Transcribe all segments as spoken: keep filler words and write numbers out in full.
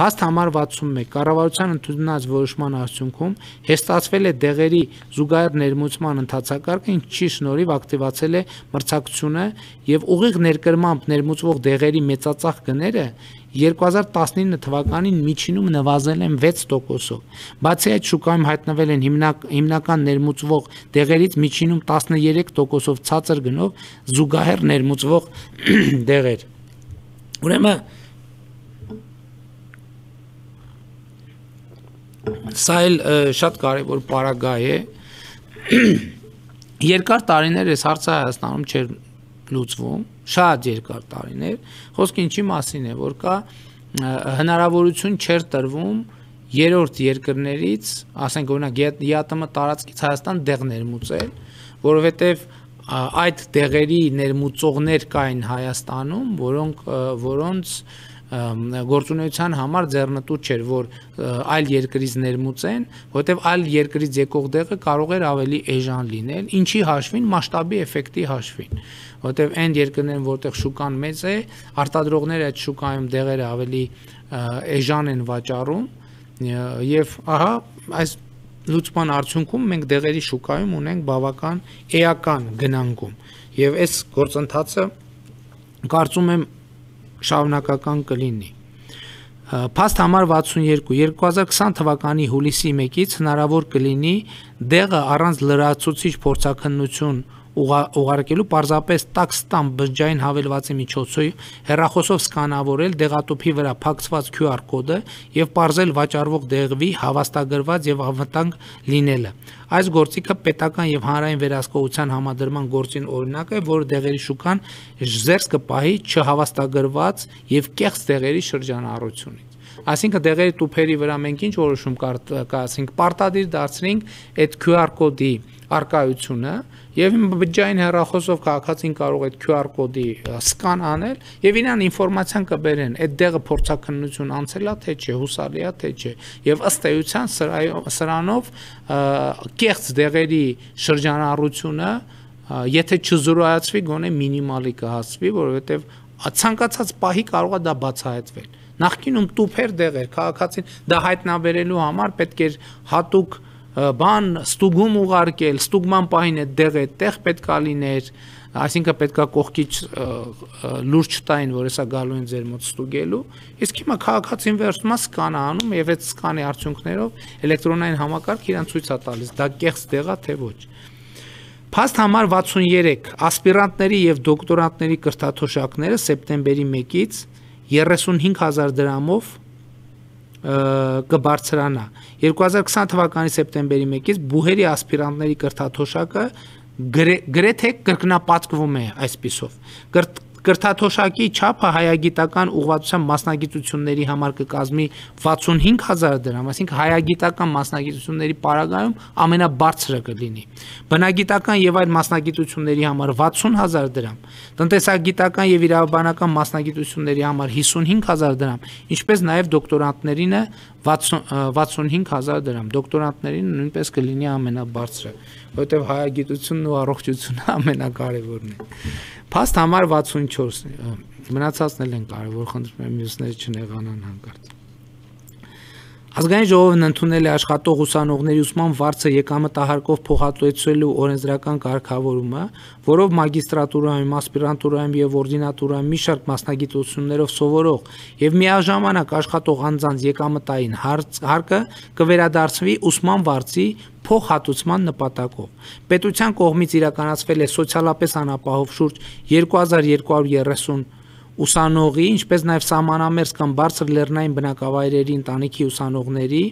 Փաստ համար վաթսունմեկ կառավարության ընդունած որոշման արդյունքում հեստացվել է դեղերի զուգահեռ ներմուծման ընթացակարգը, ինչի շնորհիվ ակտիվացել է մրցակցությունը եւ ուղիղ ներկրմամբ ներմուծվող դեղերի մեծածախ գները երկու հազար տասնինը թվականին միջինում նվազել են վեց տոկոսով։ Բացի այդ, շուկայում հայտնվել են հիմնակ, հիմնական ներմուծվող դեղերից միջինում տասներեք տոկոսով ցածր գնով զուգահեռ ներմուծվող դեղեր։ Ուրեմն սա էլ շատ կարևոր պարագա է։ Երկար տարիներ այս հարցը Հայաստանում չէր լուծվում, շատ երկար տարիներ, խոսքը ինչի մասին է, որ կա հնարավորություն չէր տրվում երրորդ երկրներից, ասենք օրինակ ԵԱՏՄ տարածքից Հայաստան դեղ ներմուծել, որովհետև այդ դեղերի ներմուծողներ կային Հայաստանում, որոնք որոնց գործունեության համար ձեռնտու չէր, որ այլ երկրից ներմուծեն, որովհետև այլ երկրից եկող դեղը կարող էր ավելի էժան լինել, ինչի հաշվին, մասշտաբի էֆեկտի հաշվին, որովհետև այն երկրներն, որտեղ շուկան մեծ է, արտադրողները այդ շուկայում դեղերը ավելի էժան են վաճառում, եւ ահա այս լուծման արդյունքում մենք դեղերի շուկայում ունենք բավական էական գնանկում, եւ այս գործընթացը կարծում եմ շարունակական կլինի։ Փաստ համար վաթսունյոթ երկու հազար քսան թվականի հուլիսի մեկից հնարավոր կլինի դեղը առանց լրացուցիչ փորձաքննություն ուղարկելու պարզապես տաքստան բջջային հավելվածի միջոցով հեռախոսով սկանավորել դեղատուփի վրա փակցված Q R կոդը եւ պարզել վաճառվող դեղի հավաստագրված եւ անվտանգ լինելը։ Այս գործիքը պետական եւ հանրային վերահսկողության համադրման գործին օրինակ է, որ դեղերի շուկան զերծ կպահի չհավաստագրված եւ կեղծ դեղերի շրջանառությունից։ Այսինքն դեղերի տուփերի վրա մենք ինչ որոշում կայացրինք, պարտադիր դարձրինք այդ Q R կոդի արկայությունը եւ բջջային հեռախոսով քաղաքացին կարող է այդ Q R կոդի սկան անել եւ իրան ինֆորմացիան կբերեն, այդ դեղը փորձաքննություն անցել է թե չէ, հուսալի է թե չէ, եւ ըստ էության սրանով կեղծ դեղերի շրջանառությունը եթե չզրոյացվի, գոնե մինիմալի կհասվի, որովհետեւ ցանկացած պահի կարող է դա բացահայտվել։ Նախկինում տուփեր դեղեր, քաղաքացին դա հայտնաբերելու համար պետք էր հատուկ բան ստուգում ուղարկել, ստուգման պահին այդ դեղը այդտեղ պետքա լիներ, այսինքն պետքա կողքից լուրջ չտային, որ հեսա գալու են ձեր մոտ ստուգելու, իսկ հիմա քաղաքացին վերցնում է սկան անում եւ այդ սկանի արդյունքներով էլեկտրոնային համակարգ իրան ցույց է տալիս, դա կեղծ դեղ է թե ոչ։ Փաստ համար վաթսունյոթ ասպիրանտների եւ դոկտորանտների կրթաթոշակները սեպտեմբերի մեկից երեսունհինգ հազար դրամով կբարձրանա։ երկու հազար քսան թվականի սեպտեմբերի մեկից բուհերի ասպիրանտների կրթաթոշակը գրեթե կրկնապատկվում է այսպիսով։ Կրթաթոշակի չափը հայագիտական ուղղվածության մասնագիտությունների համար կկազմի վաթսունհինգ հազար դրամ, այսինքն հայագիտական մասնագիտությունների պարագայում ամենաբարձրը կլինի։ Բնագիտական եւ այլ մասնագիտությունների համար վաթսուն հազար դրամ, տնտեսագիտական եւ իրավաբանական մասնագիտությունների համար հիսունհինգ հազար դրամ, ինչպես նաեւ դոկտորանտներինը վաթսունհինգ հազար դրամ, դոկտորանտներին նույնպես կլինի ամենաբարձրը, որովհետեւ հայագիտությունն ու առողջությունը ամենակարևորն է։ Փաստ համար վաթսունչորս մնացածն են կարևոր, խնդրում եմ մյուսները չնեղանան հանկարծ։ Ազգային ժողովն ընդունել է աշխատող ուսանողների ուսման վարձը եկամտահարկով փոխհատուցելու օրենսդրական կարգավորումը, որով մագիստրատուրայում, ասպիրանտուրայում եւ օրդինատուրայում մի շարք մասնագիտություններով սովորող եւ միաժամանակ աշխատող անձանց եկամտային հարկը կվերադարձվի ուսման վարձի փոխհատուցման նպատակով։ Պետության կողմից իրականացվել է սոցիալապես անապահով շուրջ երկու հազար երկու հարյուր երեսուն ուսանողի, ինչպես նաև սահմանամերձ կամ բարձր լեռնային բնակավայրերի ընտանիքի ուսանողների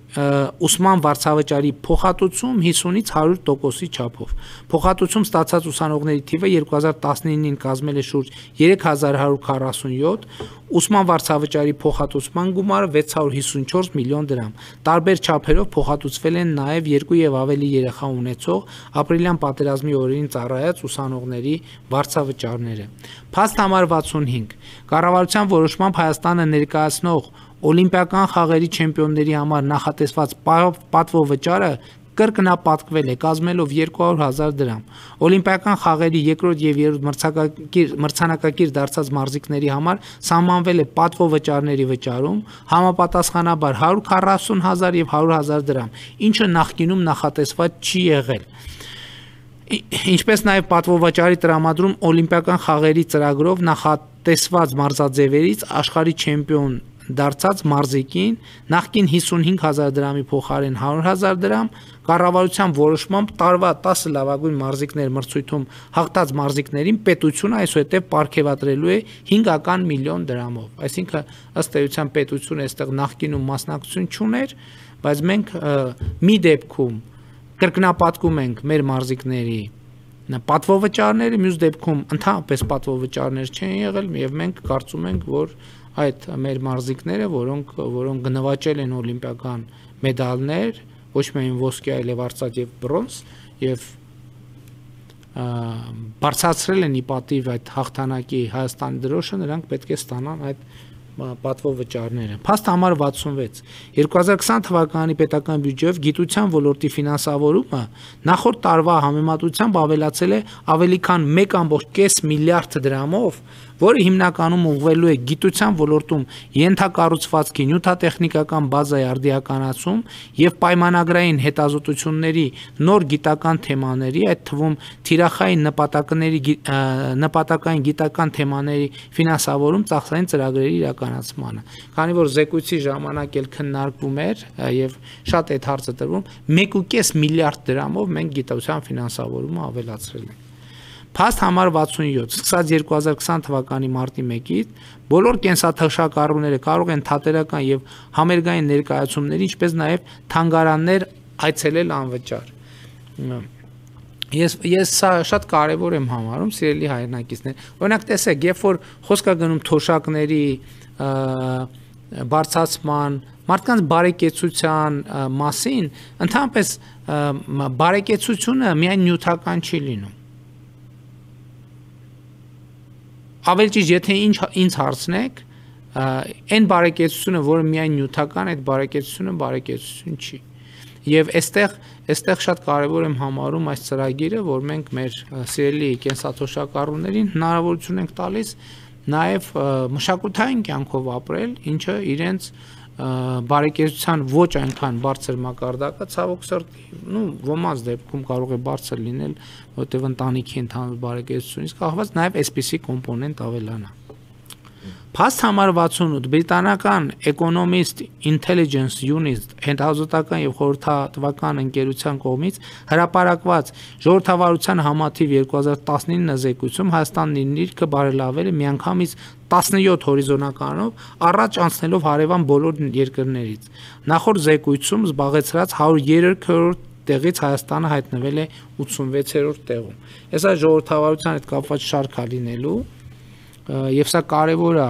ուսման վարձավճարի փոխհատուցում հիսունից հարյուր տոկոսի չափով։ Փոխհատուցում ստացած ուսանողների թիվը երկու հազար տասնինին կազմել է շուրջ երեք հազար հարյուր քառասունյոթ, ուսման վարձավճարի փոխհատուցման գումարը վեց հարյուր հիսունչորս միլիոն դրամ։ Տարբեր չափերով փոխհատուցվել են նաև երկու եւ ավելի երեխա ունեցող ապրիլյան պատերազմի օրերին ծառայած ուսանողների վարձավճարները։ Փաստ համար վաթսունհինգ կառավարության որոշմամբ Հայաստանը ներկայացնող Օլիմպիական խաղերի չեմպիոնների համար նախատեսված պատվո վճարը կրկնապատկվել է կազմելով երկու հարյուր հազար դրամ։ Օլիմպիական խաղերի երկրորդ եւ երրորդ մրցանակակիր դարձած մարզիկների համար սահմանվել է պատվովճարների վճարում, համապատասխանաբար հարյուր քառասուն հազար եւ հարյուր հազար դրամ, ինչը նախկինում նախատեսված չի եղել։ Ինչպես նաև պատվովճարի տրամադրում օլիմպիական խաղերի ծրագրով նախատեսված մարզաձևերից աշխարհի չեմպիոն դարձած մարզիկին նախկին հիսունհինգ հազար դրամի փոխարեն հարյուր հազար դրամ, կառավարության որոշմամբ տարվա տասը լավագույն մարզիկներ մրցույթում հաղթած մարզիկներին պետությունը այսուհետև պարգևատրելու է հինգական միլիոն դրամով։ Այսինքն ըստ էության պետությունը այստեղ նախկինում մասնակցություն չուներ, բայց մենք մի դեպքում կրկնապատկում ենք մեր մարզիկների պատվովճարները, մյուս դեպքում ընդհանրապես պատվովճարներ չեն եղել եւ մենք կարծում ենք, որ այդ մեր մարզիկները, որոնք որոնք գնվաճել են օլիմպիական մեդալներ, ոչ միայն ոսկե, այլև արծաթ եւ բրոնզ եւ բարձրացրել են ի պատիվ այդ հաղթանակի Հայաստանի դրոշը, նրանք պետք է ստանան այդ պատվովճարները։ Փաստ համար վաթսունվեց երկու հազար քսան թվականի պետական բյուջեով գիտության ոլորտի ֆինանսավորումը նախորդ տարվա համեմատությամբ ավելացել է ավելի քան մեկ կόμկոմ կես միլիարդ դրամով, որը հիմնականում ուղղվելու է գիտության ոլորտում ենթակառուցվածքի նյութատեխնիկական բազայի արդիականացում եւ պայմանագրային հետազոտությունների նոր գիտական թեմաների, այդ թվում թիրախային նպատակների նպատակային գիտական թեմաների ֆինանսավորում ծախսային ծրագրերի իրականացմանը։ Քանի որ զեկույցի ժամանակ էլ քննարկվում էր եւ շատ այդ հարցը տրվում, մեկ կόμկոմ կես միլիարդ դրամով մենք գիտության ֆինանսավորումը ավելացրել ենք։ Փաստ համար վաթսունյոթ սկսած երկու հազար քսան թվականի մարտի մեկից բոլոր կենսաթոշակառուները կարող են թատերական եւ համերգային ներկայացումների, ինչպես նաեւ թանգարաններ այցելել անվճար։ Ես ես սա շատ կարևոր եմ համարում, սիրելի հայրենակիցներ։ Օրինակ տեսեք, երբ որ խոսք է գնում թոշակների բարձրացման, մարդկանց բարեկեցության մասին, ընդհանրապես բարեկեցությունը միայն նյութական չի լինում։ Ավելի ճիշտ, եթե ինչ ինձ հարցնեք, այն բարեկեցությունը, որը միայն նյութական, այդ բարեկեցությունը բարեկեցություն չի։ Եվ այստեղ այստեղ շատ կարևոր եմ համարում այս ծրագիրը, որ մենք մեր սիրելի կենսաթոշակառուներին հնարավորություն ենք տալիս նաև մշակութային կյանքով ապրել, ինչը իրենց բարեկեցության ոչ այնքան բարձր մակարդակը ցավոք սրտի, նու ոմանց դեպքում կարող է բարձր լինել, որտեղ ընտանիքի ընդհանուր բարեկեցությունից կախված նաև այսպիսի կոմպոնենտ ավելանա։ Փաստ համար վաթսունութ բրիտանական Economist Intelligence Unit հետազոտական եւ խորհրդատվական ընկերության կողմից հրապարակված ժողովրդավարության համաթիվ երկու հազար տասնինը զեկույցում Հայաստանն իր նիրքը բարելավել է միանգամից տասնյոթ հորիզոնականով առաջ անցնելով հարևան բոլոր երկրներից։ Նախորդ զեկույցում զբաղեցրած հարյուր երեքերորդ տեղից Հայաստանը հայտնվել է ութսունվեցերորդ տեղում։ Այս այս ժողովրդավարության հետ կապված շարք է լինելու եւ սա կարեւոր է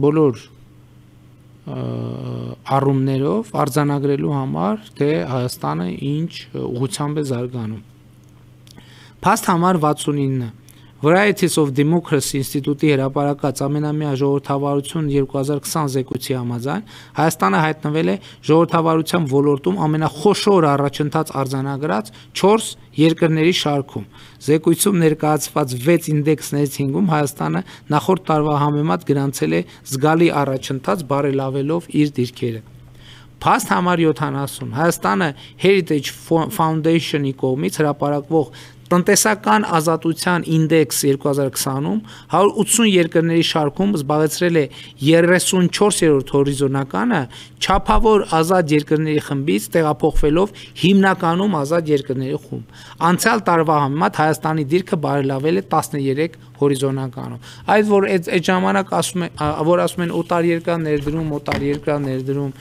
բոլոր առումներով արձանագրելու համար, թե Հայաստանը ինչ ուղղությամբ է զարգանում։ Փաստ համար վաթսունինը Varieties of Democracy ինստիտուտի հրապարակած ամենամյա ժողովրդավարություն երկու հազար քսան զեկույցի համաձայն Հայաստանը հայտնվել է ժողովրդավարության ոլորտում ամենախոշոր առաջընթաց արձանագրած չորս երկրների շարքում։ Զեկույցում ներկայացված վեց ինդեքսներից հինգում Հայաստանը նախորդ տարվա համեմատ գրանցել է զգալի առաջընթաց բարելավելով իր դիրքերը։ Փաստ համար յոթանասուն Հայաստանը Heritage Foundation-ի կողմից հրապարակվող տնտեսական ազատության ինդեքս երկու հազար քսանում հարյուր ութսուն երկրների շարքում զբաղեցրել է երեսունչորսերորդ հորիզոնականը չափավոր ազատ երկրների խմբից տեղափոխվելով հիմնականում ազատ երկրների խումբ։ Անցյալ տարվա համեմատ Հայաստանի դիրքը բարելավել է տասներեք հորիզոնականում։ Այդ որ այդ ժամանակ ասում են, որ ասում են օտարերկրյա ներդրում, օտարերկրյա ներդրում,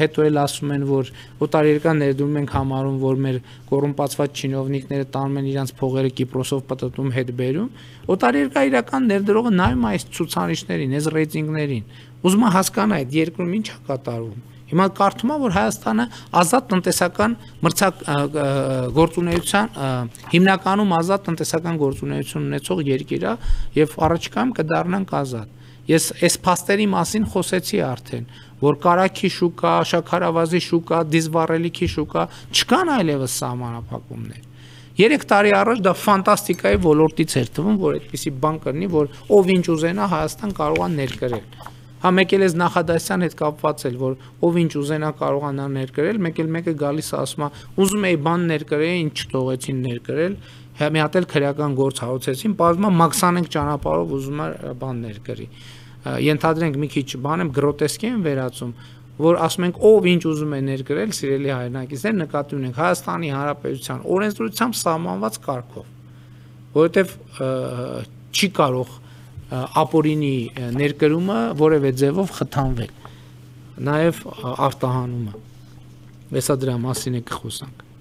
հետո էլ ասում են, որ օտարերկրյա ներդրում ենք համարում, որ մեր կոռումպացված չինովնիկները տանում են իրենց փողերը Կիպրոսով պտտում հետ բերում։ Օտարերկրյա իրական ներդրողը նայում այս ցուցանիշներին, այս ռեյտինգներին, ուզում է հասկանա այդ երկրում ինչ է կատարվում։ Հիմա կարդում եմ, որ Հայաստանը ազատ տնտեսական մրցակ գործունեության հիմնականում ազատ տնտեսական գործունեություն ունեցող երկիր է եւ առաջիկայում կդառնանք ազատ։ Ես այս փաստերի մասին խոսեցի արդեն, որ կարագի շուկա, շաքարավազի շուկա, դիզվառելիքի շուկա, չկան այլևս սահմանափակումներ։ Երեք տարի առաջ դա ֆանտաստիկայի ոլորտից էր թվում, որ այդպիսի բան կլինի, որ ով ինչ ուզենա Հայաստան կարող է ներկրել։ Հա մեկ էլ էս նախադասության հետ կապված էլ, որ ով ինչ ուզենա կարողանա ներկրել, մեկ էլ մեկը գալիս ասում է, ուզում էի բան ներկրել, ինչ չթողեցին ներկրել, մի հատ էլ քրեական գործ հարուցեցին, բազմա մաքսանենք ճանապարհով ուզում է բան ներկրի։ Ենթադրենք մի քիչ բան եմ գրոտեսկի եմ վերածում, որ ասում ենք ով ինչ ուզում է ներկրել, սիրելի հայրենակիցներ, նկատի ունենք Հայաստանի Հանրապետության օրենսդրությամբ սահմանված կարգով, որովհետև չի կարող ապօրինի ներկրումը որևէ ձևով խթանվել, նաև արտահանումը։ Հեսա դրա մասին է կխոսանք։